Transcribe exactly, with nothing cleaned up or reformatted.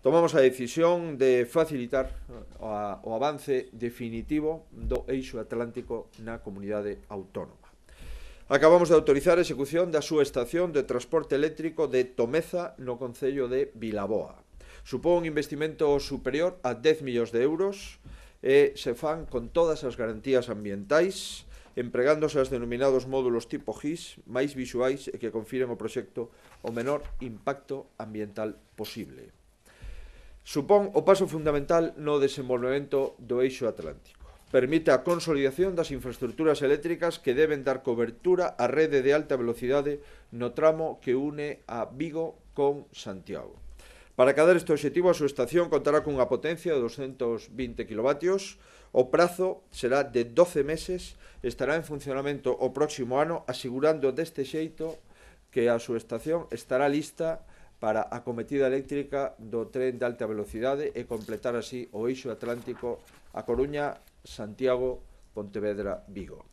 tomamos a decisión de facilitar o avance definitivo do eixo atlántico na comunidade autónoma. Acabamos de autorizar a execución da súa estación de transporte eléctrico de Tomeza no concello de Vilaboa. Supón un investimento superior a dez millóns de euros e se fan con todas as garantías ambientais, empregándose os denominados módulos tipo G I S máis visuais e que confiren ao proxecto o menor impacto ambiental posible. Supón o paso fundamental no desenvolvemento do eixo atlántico. Permite a consolidación das infraestructuras eléctricas que deben dar cobertura á rede de alta velocidade no tramo que une a Vigo con Santiago. Para acadar este obxectivo, a súa estación contará cunha potencia de doscientos vinte kilovatios. O prazo será de doce meses e estará en funcionamento o próximo ano, asegurando deste xeito que a súa estación estará lista para a acometida eléctrica do tren de alta velocidade e completar así o eixo atlántico A Coruña, Santiago, Pontevedra, Vigo.